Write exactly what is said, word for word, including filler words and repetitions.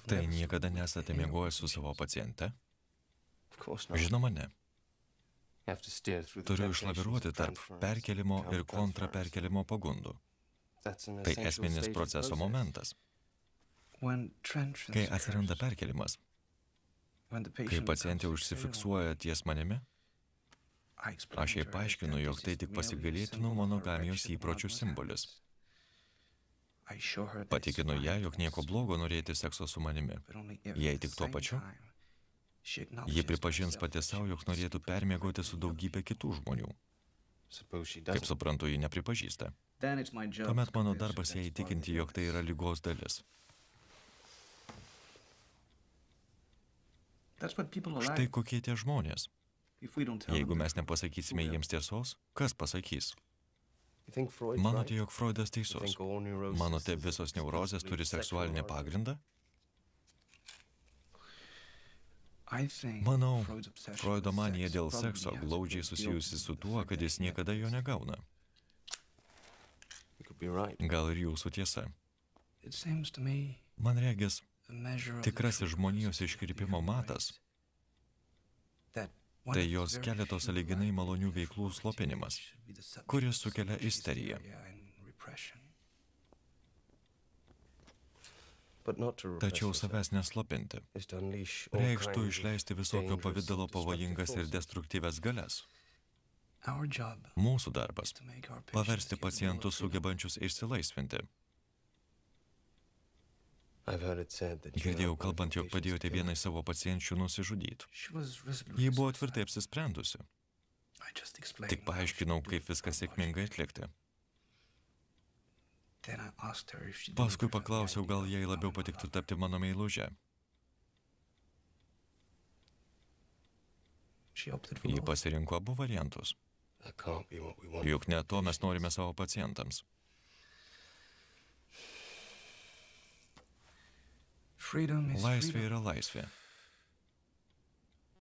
Tai niekada nesate miegojęs su savo paciente? Žinoma, ne. Turiu išlaviruoti tarp perkelimo ir kontraperkelimo pagundų. Tai esminis proceso momentas. Kai atsiranda perkelimas, kai pacientė užsifiksuoja ties manimi, aš jai paaiškinu, jog tai tik pasigailėtinų monogamijos įpročių simbolis. Patikinu ją, jog nieko blogo norėti sekso su manimi. Jei tik tuo pačiu, ji pripažins pati savo, jog norėtų permiegoti su daugybė kitų žmonių. Kaip suprantu, ji nepripažįsta. Tuomet mano darbas ją įtikinti, jog tai yra ligos dalis. Štai kokie tie žmonės. Jeigu mes nepasakysime jiems tiesos, kas pasakys? Manote, jog Freudas teisus? Manote, visos neurozės turi seksualinį pagrindą? Manau, Freudo manija dėl sekso glaudžiai susijusi su tuo, kad jis niekada jo negauna. Gal ir jūsų tiesa. Man regis, tikrasis žmonijos iškrypimo matas — tai jos keletos sąlyginai malonių veiklų slopinimas, kuris sukelia isteriją. Tačiau savęs neslopinti reikštų išleisti visokio pavidalo pavojingas ir destruktyves galias. Mūsų darbas — paversti pacientus sugebančius išsilaisvinti. Girdėjau kalbant, jog padėjote vienai savo pacienčių nusižudyti. Ji buvo tvirtai apsisprendusi. Tik paaiškinau, kaip viską sėkmingai atlikti. Paskui paklausiau, gal jai labiau patiktų tapti mano meiluže. Ji pasirinko abu variantus. Juk ne to mes norime savo pacientams. Laisvė yra laisvė.